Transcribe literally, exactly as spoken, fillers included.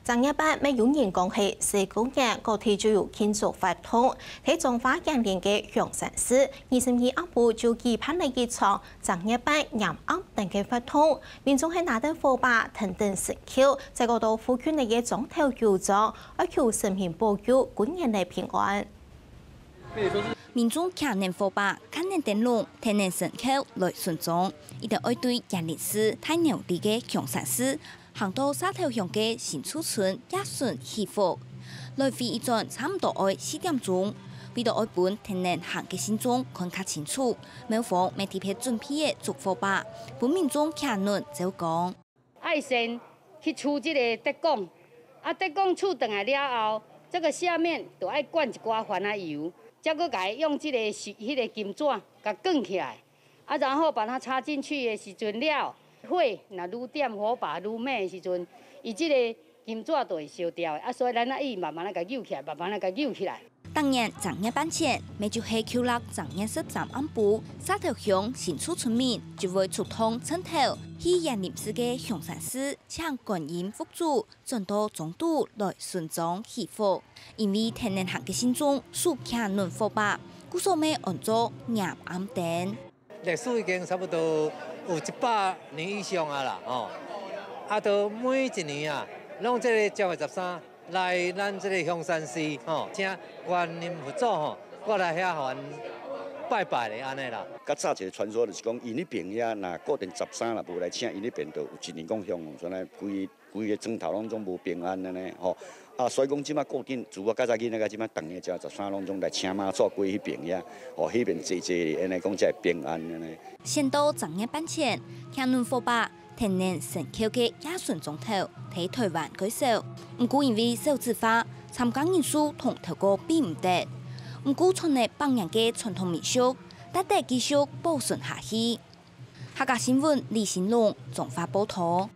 正月半乜有人講係四過年，各地就有慶祝活動。在彰化員林个香山市，二十二暗晡就舉辦了一場正月半迎暗燈个活動，民眾係拿等火把、天燈神轎，再過到附近个庄頭遊庄，哀求神明保佑，過年來平安。民眾擎等火把、擎等燈籠、天燈神轎來巡庄，一定愛對員林市大鳥里个香山市 行到社頭鄉个新厝村迎神祈福。來回一轉差毋多愛四點鐘，為著愛分天頂行个信眾看較清楚，廟方乜特別準備个竹火把，分民眾擎等照光。愛先去取這个竹管，啊，竹管取轉來了後，這个下面就愛灌一寡番仔油，才閣共伊用這个是，彼个金紙共捲起來。 啊，然後把它插進去的時陣了，火若愈點，火把愈猛的時陣，伊這个金紙就會燒掉的。啊，所以咱愛慢慢仔共搝起來，慢慢仔共搝起來。逐年正月半前，乜就係舊曆正月十三暗晡，社頭鄉新厝村民就會出動陣頭，去員林市个香山寺請觀音佛祖，轉到庄肚來巡庄祈福。因為天頂行个信眾手擎等火把，故所乜安做迎暗燈。 歷史已經差不多有一百年以上啊啦，吼。啊，都每一年啊，攏這个正月十三來咱這个香山寺，吼，請觀音佛祖，吼，過來遐予咱拜拜咧，按呢啦。較早一个傳說就是講，𪜶彼爿遐若固定十三若無來請，𪜶彼爿就有一年講香火傳來，規 規个庄頭攏總無平安按呢吼。啊，所以講這馬固定，自我較早囡仔到這馬，逐年正月十三攏總來請媽祖過彼爿遐，吼，彼爿坐坐咧，按呢講才會平安按呢。先到正月半前，擎等火把、天頂神轎个迎神庄頭，在台灣較少。毋過因為少子化，參加人數同頭過比毋得。毋過，賰咧百年个傳統民俗，值得繼續保存下去。 客家新聞李新龍，彰化報導。